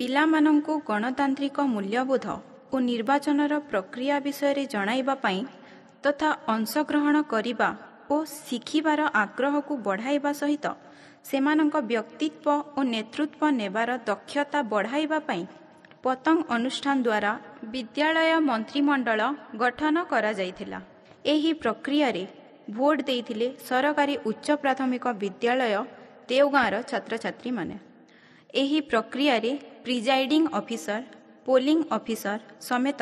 ପିଲାମାନଙ୍କୁ ଗଣତାନ୍ତ୍ରିକ ମୂଲ୍ୟବୋଧ ଓ ନିର୍ବାଚନର ପ୍ରକ୍ରିୟା ବିଷୟରେ ଜଣାଇବା ପାଇଁ ତଥା ଅଂଶଗ୍ରହଣ କରିବା ଓ ଶିଖିବାର ଆଗ୍ରହକୁ ବଢ଼ାଇବା ସହିତ ସେମାନଙ୍କ ବ୍ୟକ୍ତିତ୍ୱ ଓ ନେତୃତ୍ୱ ନେବାର ଦକ୍ଷତା ବଢ଼ାଇବା ପାଇଁ ପତଙ୍ଗ ଅନୁଷ୍ଠାନ ଦ୍ୱାରା ବିଦ୍ୟାଳୟ ମନ୍ତ୍ରିମଣ୍ଡଳ ଗଠନ କରାଯାଇଥିଲା। ଏହି ପ୍ରକ୍ରିୟାରେ ଭୋଟ ଦେଇଥିଲେ ସରକାରୀ ଉଚ୍ଚ ପ୍ରାଥମିକ ବିଦ୍ୟାଳୟ ଦେଓଗାଁର ଛାତ୍ରଛାତ୍ରୀମାନେ। ଏହି ପ୍ରକ୍ରିୟାରେ ପ୍ରିଜାଇଡିଂ ଅଫିସର, ପୋଲିଂ ଅଫିସର ସମେତ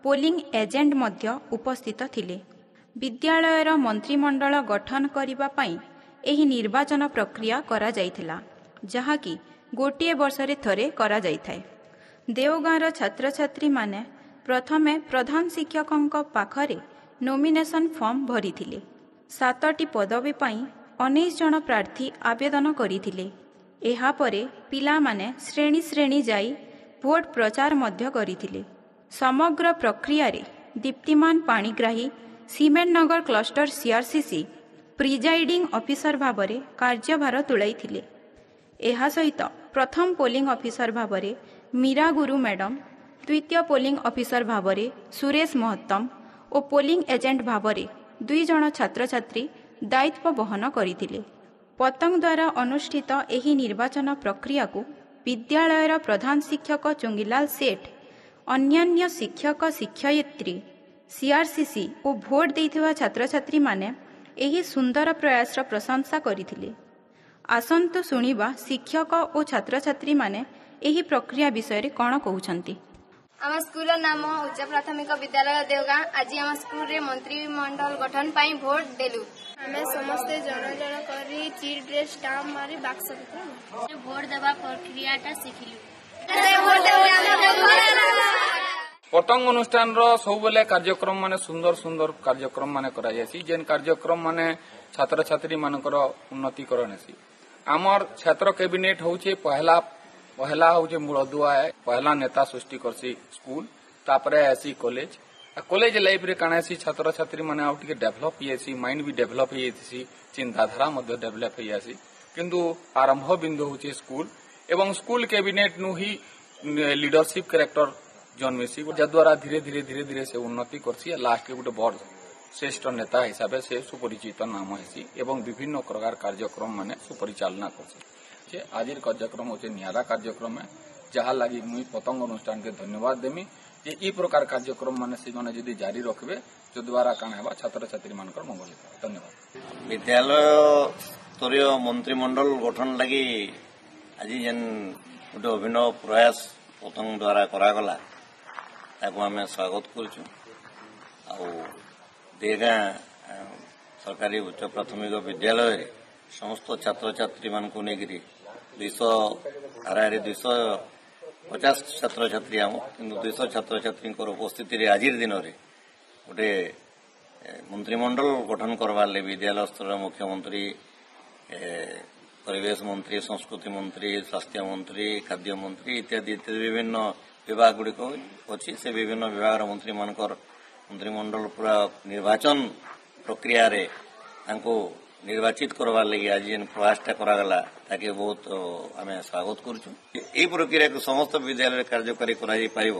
ପୋଲିଂ ଏଜେଣ୍ଟ ମଧ୍ୟ ଉପସ୍ଥିତ ଥିଲେ। ବିଦ୍ୟାଳୟର ମନ୍ତ୍ରିମଣ୍ଡଳ ଗଠନ କରିବା ପାଇଁ ଏହି ନିର୍ବାଚନ ପ୍ରକ୍ରିୟା କରାଯାଇଥିଲା, ଯାହାକି ଗୋଟିଏ ବର୍ଷରେ ଥରେ କରାଯାଇଥାଏ। ଦେଓଗାଁର ଛାତ୍ରଛାତ୍ରୀମାନେ ପ୍ରଥମେ ପ୍ରଧାନ ଶିକ୍ଷକଙ୍କ ପାଖରେ ନୋମିନେସନ୍ ଫର୍ମ ଭରିଥିଲେ। 7ଟି ପଦବୀ ପାଇଁ 19 ଜଣ ପ୍ରାର୍ଥୀ ଆବେଦନ କରିଥିଲେ। ଏହାପରେ ପିଲାମାନେ ଶ୍ରେଣୀ ଶ୍ରେଣୀ ଯାଇ ଭୋଟ ପ୍ରଚାର ମଧ୍ୟ କରିଥିଲେ। ସମଗ୍ର ପ୍ରକ୍ରିୟାରେ ଦୀପ୍ତିମାନ ପାଣିଗ୍ରାହୀ, ସିମେଣ୍ଟ ନଗର କ୍ଲଷ୍ଟର ସିଆର୍ସିସି ପ୍ରିଜାଇଡିଂ ଅଫିସର ଭାବରେ କାର୍ଯ୍ୟଭାର ତୁଲାଇଥିଲେ। ଏହା ସହିତ ପ୍ରଥମ ପୋଲିଂ ଅଫିସର ଭାବରେ ମୀରା ଗୁରୁ ମ୍ୟାଡମ୍, ଦ୍ୱିତୀୟ ପୋଲିଂ ଅଫିସର ଭାବରେ ସୁରେଶ ମହତ୍ତମ ଓ ପୋଲିଂ ଏଜେଣ୍ଟ ଭାବରେ 2 ଜଣ ଛାତ୍ରଛାତ୍ରୀ ଦାୟିତ୍ୱ ବହନ କରିଥିଲେ। ପତଙ୍ଗ ଦ୍ୱାରା ଅନୁଷ୍ଠିତ ଏହି ନିର୍ବାଚନ ପ୍ରକ୍ରିୟାକୁ ବିଦ୍ୟାଳୟର ପ୍ରଧାନ ଶିକ୍ଷକ ଚୁଙ୍ଗିଲାଲ ସେଠ, ଅନ୍ୟାନ୍ୟ ଶିକ୍ଷକ ଶିକ୍ଷୟିତ୍ରୀ, ସିଆର୍ସିସି ଓ ଭୋଟ ଦେଇଥିବା ଛାତ୍ରଛାତ୍ରୀମାନେ ଏହି ସୁନ୍ଦର ପ୍ରୟାସର ପ୍ରଶଂସା କରିଥିଲେ। ଆସନ୍ତୁ ଶୁଣିବା ଶିକ୍ଷକ ଓ ଛାତ୍ରଛାତ୍ରୀମାନେ ଏହି ପ୍ରକ୍ରିୟା ବିଷୟରେ କ'ଣ କହୁଛନ୍ତି। ଆମ ସ୍କୁଲର ନାମ ଉଚ୍ଚ ପ୍ରାଥମିକ ବିଦ୍ୟାଳୟ ଦେଓଗାଁ। ଆଜି ଆମ ସ୍କୁଲରେ ମନ୍ତ୍ରିମଣ୍ଡଳ ଗଠନ ପାଇଁ ଭୋଟ ଦେଲୁ। ଆମେ ସମସ୍ତେ ଜଣ ଜଣ କରି ଚିଟ୍ରେ ଷ୍ଟାମ୍ପ ମାରି ବାକ୍ସ ଭିତରେ ଭୋଟ ଦେବା ପ୍ରକ୍ରିୟାଟା ଶିଖିଲୁ। ପତଙ୍ଗ ଅନୁଷ୍ଠାନର ସବୁବେଳେ କାର୍ଯ୍ୟକ୍ରମ ମାନେ ସୁନ୍ଦର ସୁନ୍ଦର କାର୍ଯ୍ୟକ୍ରମ ମାନେ କରାଯାଇସି, ଯେନ୍ କାର୍ଯ୍ୟକ୍ରମ ମାନେ ଛାତ୍ରଛାତ୍ରୀ ମାନଙ୍କର ଉନ୍ନତିକରଣ ହେସି। ଆମର ଛାତ୍ର କ୍ୟାବିନେଟ ହଉଛେ ପହଲା ହଉଛେ ମୂଳଦୁଆ, ପହଲା ନେତା ସୃଷ୍ଟି କରସି ସ୍କୁଲ, ତାପରେ ଆସି କଲେଜ। କଲେଜ ଲାଇଫରେ କାଣା ହେସି, ଛାତ୍ରଛାତ୍ରୀ ମାନେ ଆଉ ଟିକେ ଡେଭଲପ ହେଇଯାଇସି, ମାଇଣ୍ଡ ବି ଡେଭଲପ ହେଇଯାଇସି, ଚିନ୍ତାଧାରା ମଧ୍ୟ ଡେଭଲପ ହେଇଯାସି। କିନ୍ତୁ ଆରମ୍ଭ ବିନ୍ଦୁ ହଉଛେ ସ୍କୁଲ ଏବଂ ସ୍କୁଲ କ୍ୟାବିନେଟ ନୁ ହିଁ ଲିଡରସିପ କ୍ୟାରେକ୍ଟର ଜନ୍ମିସି, ଯଦ୍ୱାରା ଧୀରେ ଧୀରେ ଧୀରେ ଧୀରେ ସେ ଉନ୍ନତି କରସି। ଲାଷ୍ଟକେ ଗୋଟେ ବଡ ଶ୍ରେଷ୍ଠ ନେତା ହିସାବେ ସେ ସୁପରିଚିତ ନାମ ହେସି ଏବଂ ବିଭିନ୍ନ ପ୍ରକାର କାର୍ଯ୍ୟକ୍ରମ ମାନେ ସୁପରିଚାଳନା କରସି। ଆଜିର କାର୍ଯ୍ୟକ୍ରମ ହଉଛି ନିଆରା କାର୍ଯ୍ୟକ୍ରମ, ଯାହା ଲାଗି ମୁଇଁ ପତଙ୍ଗ ଅନୁଷ୍ଠାନକେ ଧନ୍ୟବାଦ ଦେମି ଯେ ଇ ପ୍ରକାର କାର୍ଯ୍ୟକ୍ରମ ମାନେ ସେମାନେ ଯଦି ଜାରି ରଖିବେ, ଯଦ୍ୱାରା କାଣା ହେବା ଛାତ୍ରଛାତ୍ରୀ ମାନଙ୍କର ମଙ୍ଗଳ ହେବ। ଧନ୍ୟବାଦ। ବିଦ୍ୟାଳୟ ସ୍ତରୀୟ ମନ୍ତ୍ରିମଣ୍ଡଳ ଗଠନ ଲାଗି ଆଜି ଯେନ୍ ଗୋଟେ ଅଭିନବ ପ୍ରୟାସ ପତଙ୍ଗ ଦ୍ୱାରା କରାଗଲା, ତାକୁ ଆମେ ସ୍ୱାଗତ କରୁଛୁ। ଆଉ ଦେଗାଁ ସରକାରୀ ଉଚ୍ଚ ପ୍ରାଥମିକ ବିଦ୍ୟାଳୟରେ ସମସ୍ତ ଛାତ୍ରଛାତ୍ରୀମାନଙ୍କୁ ନେଇକରି 200 ହାରାହାରି 250 ଛାତ୍ରଛାତ୍ରୀ ଆମ, କିନ୍ତୁ 200 ଛାତ୍ରଛାତ୍ରୀଙ୍କର ଉପସ୍ଥିତିରେ ଆଜିର ଦିନରେ ଗୋଟେ ମନ୍ତ୍ରିମଣ୍ଡଳ ଗଠନ କରବାର ଲାଗି ବିଦ୍ୟାଳୟ ସ୍ତରର ମୁଖ୍ୟମନ୍ତ୍ରୀ, ପରିବେଶ ମନ୍ତ୍ରୀ, ସଂସ୍କୃତି ମନ୍ତ୍ରୀ, ସ୍ୱାସ୍ଥ୍ୟ ମନ୍ତ୍ରୀ, ଖାଦ୍ୟ ମନ୍ତ୍ରୀ ଇତ୍ୟାଦି ଇତ୍ୟାଦି ବିଭିନ୍ନ ବିଭାଗ ଗୁଡ଼ିକ ଅଛି। ସେ ବିଭିନ୍ନ ବିଭାଗର ମନ୍ତ୍ରୀମାନଙ୍କର ମନ୍ତ୍ରିମଣ୍ଡଳ ପୁରା ନିର୍ବାଚନ ପ୍ରକ୍ରିୟାରେ ତାଙ୍କୁ ନିର୍ବାଚିତ କରବାର ଲାଗି ଆଜି ଯେନ୍ ପ୍ରୟାସଟା କରାଗଲା, ତାକେ ବହୁତ ଆମେ ସ୍ୱାଗତ କରୁଛୁ। ଏହି ପ୍ରକ୍ରିୟାକୁ ସମସ୍ତ ବିଦ୍ୟାଳୟରେ କାର୍ଯ୍ୟକାରୀ କରାଯାଇପାରିବ,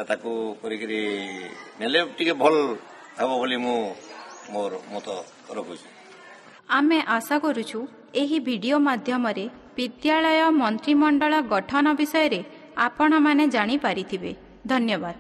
ତାକୁ କରିକିରି ନେଲେ ଟିକେ ଭଲ ହେବ ବୋଲି ମୁଁ ମୋର ମତ ରଖୁଛି। ଆମେ ଆଶା କରୁଛୁ ଏହି ଭିଡିଓ ମାଧ୍ୟମରେ ବିଦ୍ୟାଳୟ ମନ୍ତ୍ରିମଣ୍ଡଳ ଗଠନ ବିଷୟରେ ଆପଣମାନେ ଜାଣିପାରିଥିବେ। ଧନ୍ୟବାଦ।